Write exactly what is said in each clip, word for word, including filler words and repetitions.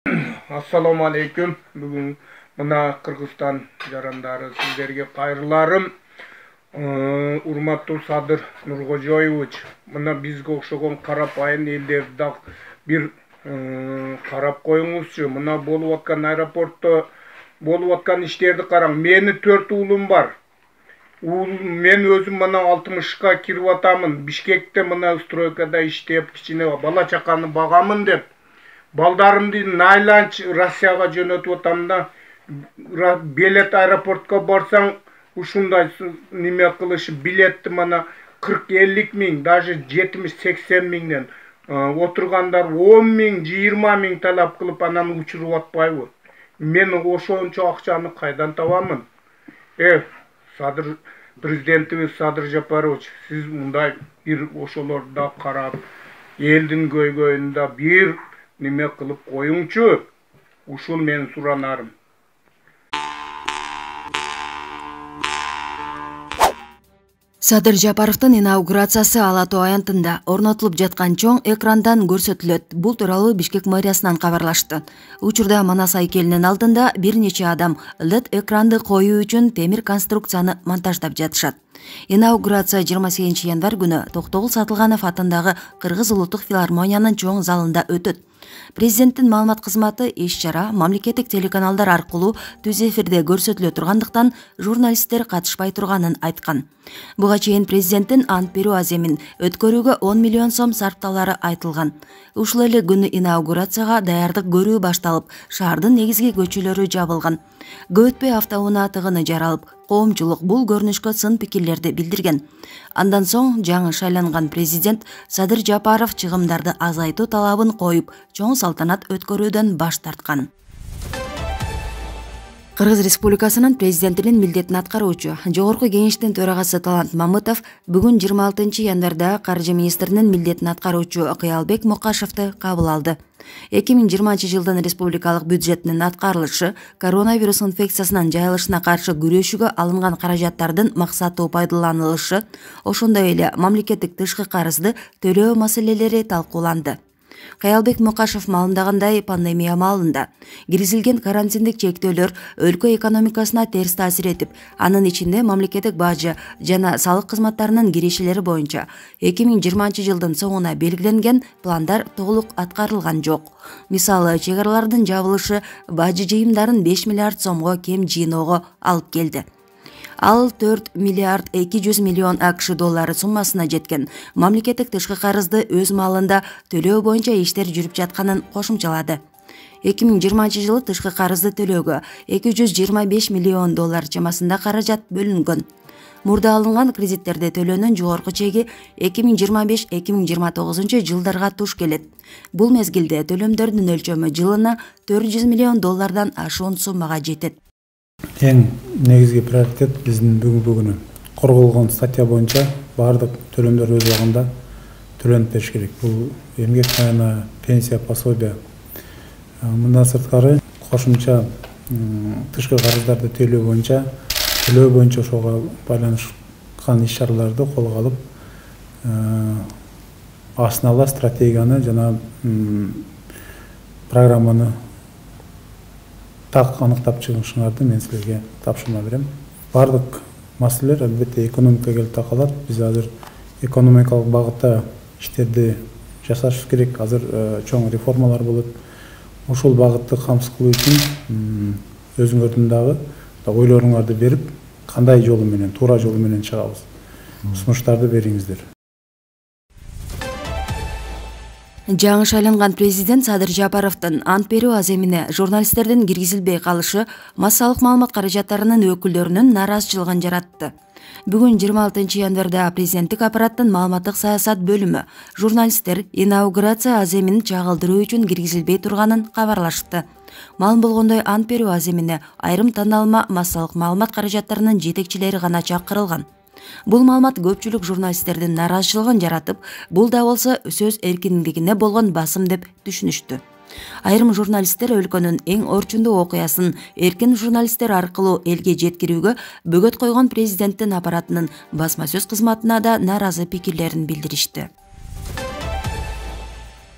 Assalamu alaikum. Бүгүн мына Кыргызстан жарандары сиздерге кайрыларым. Урматтуу Садыр Нуркожоевич, мына бизге окшогон карапайым элдерди да бир карап коюңузчу. Мына болуп аткан аэропортто болуп аткан иштерди караң. Мени төрт уулум бар. Мен өзүм мына алтымышка кирип атамын. Бишкекте мына стройкада иштеп, кичине бала чаканы багамын деп балдарымды найланч Россияга жөнөтүп атам да. Билет аэропортко барсаң, ушундай неме кылышы билетти мына кырк элүү миң, даже жетимиш сексен миңден отургандар он миң, жыйырма миң талап кылып анан учуруп атпайбы? Мен ошончо акчаны кайдан табамын? Э, Садыр президентибиз Садыр Жапарович, сиз мындай бир ошолорду да карап, элдин көйгөйүндө бир неме кылып коюңчу. Ушул менин суранарым. Садыр Жапаровдун инаугурациясы Ала Тоо аянтында орнотулуп жаткан чоң экрандан көрсөтүлөт. Бул тууралуу Бишкек мэриясынан кабарлашты. Учурда Манас айкелинин алдында бир нече адам лед экранды коюу үчүн темир конструкцияны монтаждап жатышат. Инаугурация жыйырма сегизинчи январь күнү Токтогул Сатылганов атындагы Кыргыз улуттук филармониянын чоң залында өтөт. Президенттин маалымат кызматы иш-чара мамлекеттик телеканалдар аркылуу түз эфирде көрсөтүлө тургандыктан журналисттер катышпай турганын айткан. Буга чейин президенттин ант берүү аземин өткөрүүгө он миллион сом сарпталары айтылган. Ушул эле күнү инаугурацияга даярдык көрүү башталып, шаардын негизги көчөлөрү жабылган. Көп өтпөй автоунаа тыгыны жаралып, коомчулук бул көрүнүшкө сын пикирлерди билдирген. Андан соң жаңы шайланган президент Садыр Жапаров чыгымдарды азайтуу талабын коюп, чоң салтанат өткөрүүдөн баш тарткан. Кыргыз Республикасынын президентинин милдетин аткаруучу Жогорку кеңештин төрагасы Талант Мамытов бүгүн жыйырма алтынчы январда каржы министринин милдетин аткаруучу Кыялбек Мукашевди кабыл алды. эки миң жыйырманчы жылдын республикалык бюджетинин аткарылышы коронавирус инфекциясынын жайылышына каршы күрөшүүгө алынган каражаттардын максаттуу пайдаланылышы, ошондой эле мамлекеттик тышкы карызды төлөө маселелери талкууланды. Кыялбек Мукашев маалымдагандай, пандемия маалында киргизилген карантиндик чектөөлөр өлкө экономикасына терс таасир этип, анын ичинде мамлекеттик бажы жана салык кызматтарынын кирешелери боюнча эки миң жыйырманчы жылдын соңуна белгиленген пландар толук аткарылган жок. Мисалы, чек аралардын жабылышы бажы жыйымдарын беш миллиард сомго кем жыйноого алып келди. Ал төрт миллиард эки жүз миллион АКШ доллары суммасына жеткен мамлекеттик тышкы карызды өз маалында төлөө боюнча иштер жүрүп жатканын кошумчалады. эки миң жыйырманчы жылы тышкы карызды төлөөгө эки жүз жыйырма беш миллион доллар чамасында каражат бөлүнгөн. Мурда алынган кредиттерди төлөөнүн жогорку чеги эки миң жыйырма беш — эки миң жыйырма тогузунчу жылдарга туш келет. Бул мезгилде төлөмдөрдүн өлчөмү жылына төрт жүз миллион доллардан ашуун суммага жетет. Эң негизги приоритет биздин бүгүнкү күнү корголгон статья боюнча баардык төлөмдөр өз убагында төлөнүп бериш керек. Бул эмгек майына, пенсия, пособие. Мындан сырткары кошумча тышкы карыздарды төлөө боюнча төлөө боюнча ошого байланышкан иш-чараларды колго алып, астына ала стратегияны жана программаны так аныктап чыгышыңарды мен силерге тапшырма берем. Бардык маселелер албетте экономикага келип такалат. Биз азыр экономикалык багытта иштерди жасашыбыз керек. Азыр чоң реформалар болот. Ошол багытты камсыз кылуу үчүн өзүңөрдүн дагы ойлоруңарды берип, кандай жолу менен, туура жолу менен чыгабыз. Сунуштарды бериңиздер. Жаңы шайланган президент Садыр Жапаровдун ант берүү аземине журналисттердин киргизилбей калышы массалык маалымат каражаттарынын өкүлдөрүнүн нааразычылыгын жаратты. Бүгүн жыйырма алтынчы январда президенттик аппараттын маалыматтык саясат бөлүмү журналисттер инаугурация аземин чагылдыруу үчүн киргизилбей турганын кабарлашты. Маалым болгондой, ант берүү аземине айрым тандалма массалык маалымат каражаттарынын жетекчилери гана чакырылган. Бул маалымат көпчүлүк журналисттердин нааразычылыгын жаратып, бул да болсо сөз эркиндигине болгон басым деп түшүнүштү. Айрым журналисттер өлкөнүн эң орчундуу окуясын эркин журналисттер аркылуу элге жеткирүүгө бөгөт койгон президенттин аппаратынын басма сөз кызматына да нааразы пикирлерин билдиришти.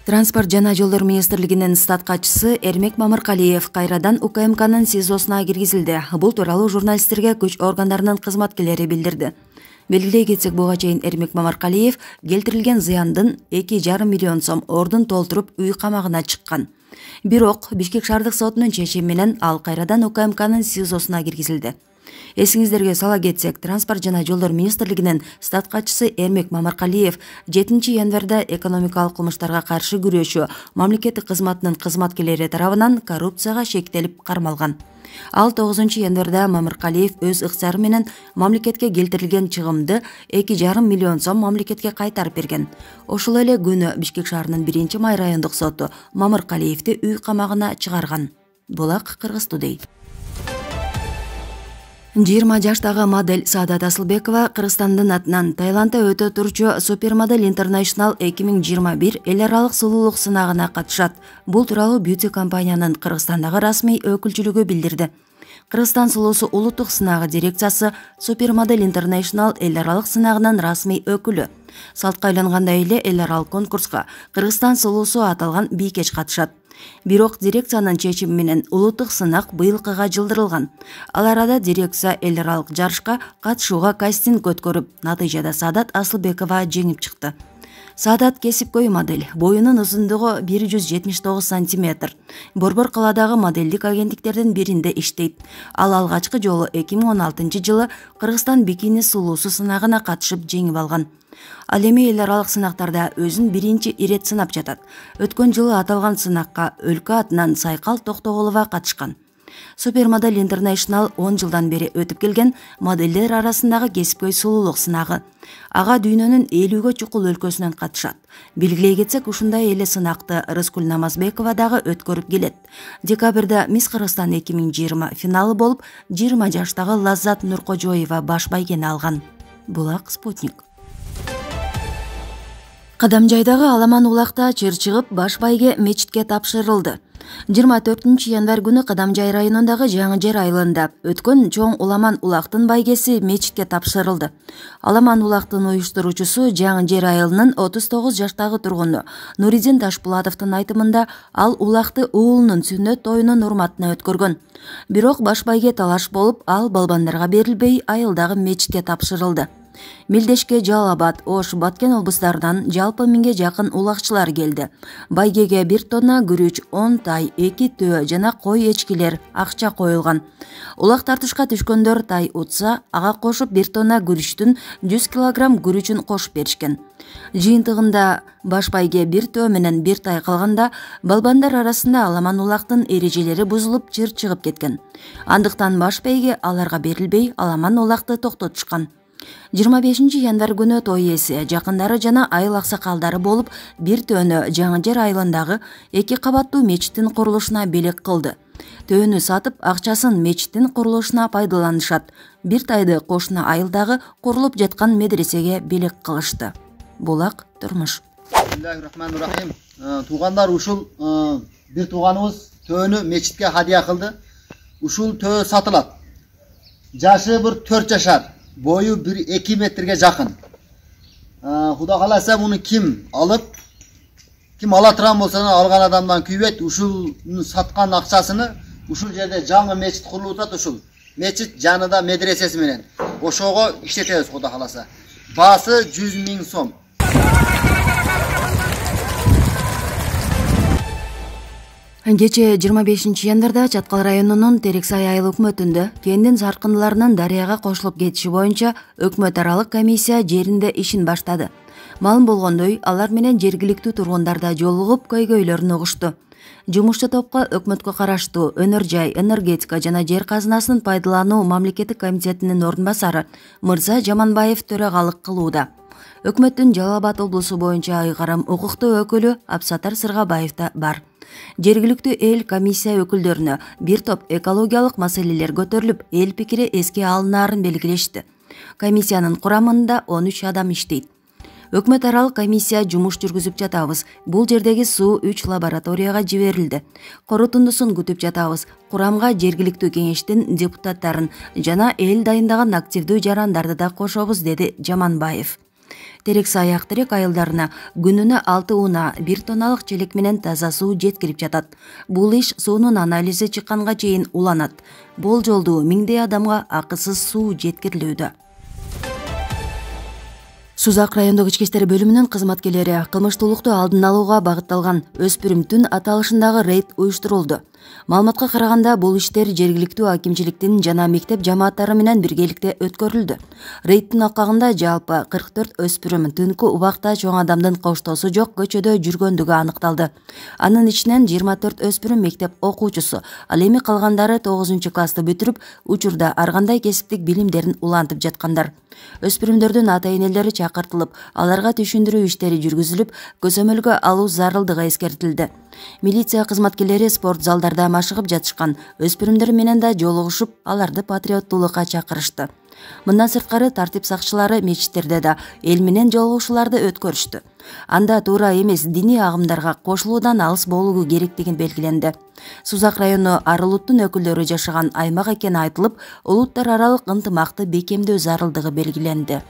Транспорт жана жолдор министрлигинин стат катчысы Эрмек Мамыркалиев кайрадан У К М К'нын СИЗОсуна киргизилди. Бул тууралуу журналисттерге күч органдарынын кызматкерлери билдирди. Белгилей кетсек, буга чейин Эрмек Мамыркалиев келтирилген зыяндын эки жарым миллион сом ордун толтуруп үй камагына чыккан. Бирок Бишкек шаардык сотунун чечими менен ал кайрадан У К М К'нын СИЗОсуна киргизилди. Эсиңиздерге сала кетсек, Транспорт жана жолдор министрлигинин стат катчысы Эрмек Мамыркалиев жетинчи январда экономикалык кылмыштарга каршы күрөшүү мамлекеттик кызматынын кызматкерлери тарабынан коррупцияга шектелип кармалган. Ал тогузунчу январда Мамыркалиев өз ыкчары менен мамлекетке келтирилген чыгымды эки жарым миллион сом мамлекетке кайтарып берген. Ошол эле күнү Бишкек шаарынын биринчи май райондук соту Мамыркалиевди үй камагына чыгарган. Булак Кыргыз Тудей. жыйырма жаштагы модель Саадат Асылбекова Кыргызстандын атынан Таиландда өтө турчу Supermodel International эки миң жыйырма бир эл аралык сулуулук сынагына катышат. Бул тууралуу бьюти компаниянын Кыргызстандагы расмий өкүлчүлүгү билдирди. Кыргызстан сулуусу улуттук сынагы дирекциясы Supermodel International эл аралык сынагынын расмий өкүлү. Салтка айлангандай эле эл аралык конкурска Кыргызстан сулуусу аталган бийкеч катышат. Бирок дирекциянын чечими менен улуттук сынак быйылкыга жылдырылган. Ал арада дирекция эл аралык жарышка катышууга кастинг өткөрүп, натыйжада Саадат Асылбекова жеңип чыкты. Саадат кесипкөй модель, боюнун узундугу бир жүз жетимиш тогуз сантиметр. Борбор каладагы моделдик агенттиктердин биринде иштейт. Ал алгачкы жолу эки миң он алтынчы жылы Кыргызстан бикини сулуусу сынагына катышып жеңип алган. Ал эми эл аралык сынактарда өзүн биринчи ирет сынап жатат. Өткөн жылы аталган сынакка өлкө атынан Сайкал Токтоголова катышкан. Supermodel International он жылдан бери өтүп келген моделдер арасындагы кесипкөй сулуулук сынагы. Ага дүйнөнүн элүүгө чукул өлкөсүнөн катышат. Белгилей кетсек, ушундай эле сынакты Рыскүл Намазбекова дагы өткөрүп келет. Декабрда Мисс Кыргызстан эки миң жыйырма финалы болуп, жыйырма жаштагы Лаззат Нуркожоева баш байгени алган. Булак Спутник. Кадамжайдагы Аламан улакта чыр чыгып, баш байге мечитке тапшырылды. жыйырма төртүнчү январь күнү Кадамжай районундагы Жаңы Жер айылында өткөн чоң Уламан улактын байгеси мечитке тапшырылды. Аламан улактын уюштуруучусу Жаңы Жер айылынын отуз тогуз жаштагы тургуну Нуридин Ташпулатовдун айтымында ал улакты уулунун сүннөт тоюнун урматына өткөргөн. Бирок баш байге талаш болуп, ал балбандарга берилбей айылдагы мечитке тапшырылды. Милдешке, Жалал Абад, Ош, Баткен облустарынан жалпы миңге жакын улакчылар келди. Байгеге бир тонна күрүч, он тай, эки төө жана кой эчкилер акча коюлган. Улак тартышка түшкөндөр тай утса, ага кошуп бир тонна күрүчтүн жүз килограмм күрүчүн кошуп беришкен. Жыйынтыгында баш байге бир төө менен бир тай калганда, балбандар арасында Аламан улактын эрежелери бузулуп чыр чыгып кеткен. Андыктан баш байге аларга берилбей, Аламан улакты токтотушкан. жыйырма бешинчи январь күнү той ээси, жакындары жана айыл аксакалдары болуп, бир төөнү Жаңы Жер айылындагы эки кабаттуу мечиттин курулушуна белек кылды. Төөнү сатып, акчасын мечиттин курулушуна пайдаланышат. Бир тайды кошуна айылдагы курулуп жаткан медресеге белек кылышты. Булак турмуш. Бисмиллахиррахманиррахим. Туугандар, ушул бир тууганыбыз төөнү мечитке хадия кылды. Ушул төө сатылат. Жашы бир төрт жашар. Бою bir эки метрге жакын. Куда каласа муну ким алып, ким ала турган болсо алган адамдан күйбөйт. Ушул саткан акчасыны ушул жерде жаңы мечит курулуп атат. Ушул мечит жанында медресеси менен ошого иштетебиз, куда каласа. Баасы жүз миң сом. Кече жыйырма бешинчи январда Чаткал районунун Терексай айыл өкмөтүндө кендин саркындыларынын дарыяга кошулуп кетиши боюнча өкмөт аралык комиссия жеринде ишин баштады. Маалым болгондой, алар менен жергиликтүү тургундарда жолугуп көйгөйлөрүн угушту. Жумушчу топко өкмөткө караштуу Өнөр жай, энергетика жана жер казынасын пайдалануу мамлекеттик комитетинин ордун басары Мырза Жаманбаев төрагалык кылууда. Өкмөттүн Жалал Абад облусу боюнча айгарым укуктуу өкүлү Абсатар Сыргабаев да бар. Жергиликтүү эл комиссия өкүлдөрүнө бир топ экологиялык маселелер көтөрүлүп, эл пикири эске алынаарын белгилешти. Комиссиянын курамында он үч адам иштейт. Өкмөт аралык комиссия жумуш жүргүзүп жатабыз. Бул жердеги суу үч лабораторияга жиберилди. Корутундусун күтүп жатабыз. Курамга жергиликтүү кеңештин депутаттарын жана эл дайындаган активдүү жарандарды да кошобуз, деди Жаманбаев. Терекси аяк терек айылдарына күнүнө алты унаа бир тонналык челек менен таза суу жеткирип жатат. Бул иш суунун анализи чыкканга чейин уланат. Болжолдуу миңдей адамга акысыз суу жеткирилүүдө. Сузак райондук ички иштер бөлүмүнүн кызматкерлери кылмыштуулукту алдын алууга багытталган өспүрүм түн аталышындагы рейд уюштурулду. Маалыматка караганда, бул иштер жергиликтүү акимчиликтин жана мектеп жамааттары менен биргеликте өткөрүлдү. Рейдтин акагында жалпы кырк төрт өспүрүм түнкү убакта чоң адамдын коштоосу жок көчөдө жүргөндүгү аныкталды. Анын ичинен жыйырма төрт өспүрүм мектеп окуучусу, ал эми калгандары тогузунчу классты бүтүрүп, учурда ар кандай кесиптик билимдерин улантып жаткандар. Өспүрүмдөрдүн ата-энелери чакыртылып, аларга түшүндүрүү иштери жүргүзүлүп, көзөмөлгө алуу зарылдыгы эскертилди. Милиция кызматкерлери спорт залдарда машыгып жатышкан өспүрүмдөр менен да жолугушуп, аларды патриоттуулукка чакырышты. Мындан сырткары тартип сакчылары мечиттерде да эл менен жолугушууларды өткөрүштү. Анда туура эмес диний агымдарга кошулуудан алыс болуу керектигин белгиленди. Сузак району ар улуттун өкүлдөрү жашаган аймак экени айтылып, улуттар аралык ынтымакты бекемдөө зарылдыгы белгиленди.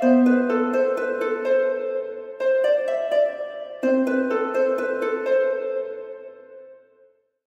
Thank you.